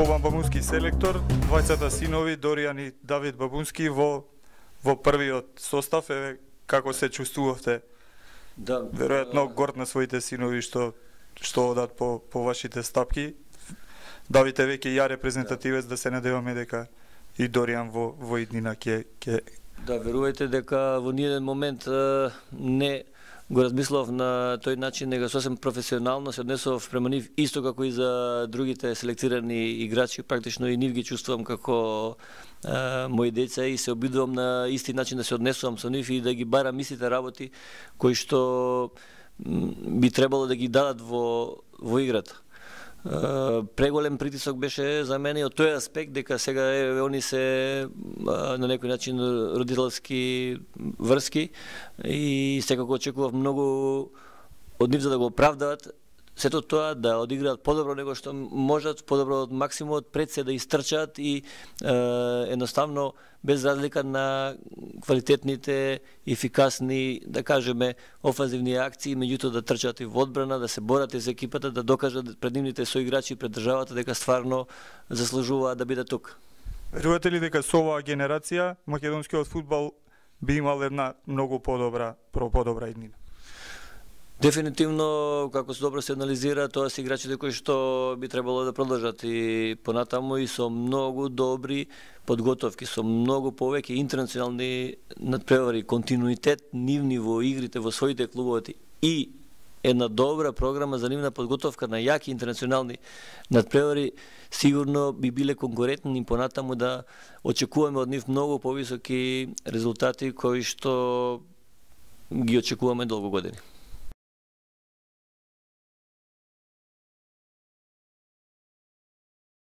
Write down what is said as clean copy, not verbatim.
Бобан Бабунски селектор, двајцата синови Доријан и Давид Бабунски во првиот состав, како се чувствувавте? Да, веројатно горд на своите синови што одат по вашите стапки. Давид е веќе ја репрезентативец, да се надеваме дека и Доријан во иднина ќе... Да, верувајте дека во ниеден момент не го размислував на тој начин, нега сосем професионално се однесував према нив, исто како и за другите селектирани играчи, практично и нив ги чувствувам како мои деца и се обидувам на исти начин да се однесувам со нив и да ги барам истите работи кои што би требало да ги дадат во играта. Преголем притисок беше за мене од тој аспект дека сега они се на некој начин родителски врски и секако очекував многу од нив за да го оправдаат сето тоа, да одиграат подобро него што можат, подобро од максимумот, пред се да истрчаат и едноставно без разлика на квалитетните, ефикасни, да кажеме, офанзивни акции, меѓутоа да трчаат и во одбрана, да се борат за екипата, да докажат пред нивните соиграчи, пред државата дека стварно заслужуваат да бидат тук. Верувате ли дека со оваа генерација македонскиот фудбал би имал една многу подобра иднина? Дефинитивно, како се добро се анализира, тоа се играчите кои што би требало да продолжат и понатаму и со многу добри подготовки, со многу повеќе интернационални надпревари, континуитет нивни во игрите во своите клубови и една добра програма за нивна подготовка на јаки интернационални надпревари, сигурно би биле конкурентни понатаму да очекуваме од нив многу повисоки резултати кои што ги очекуваме долго години.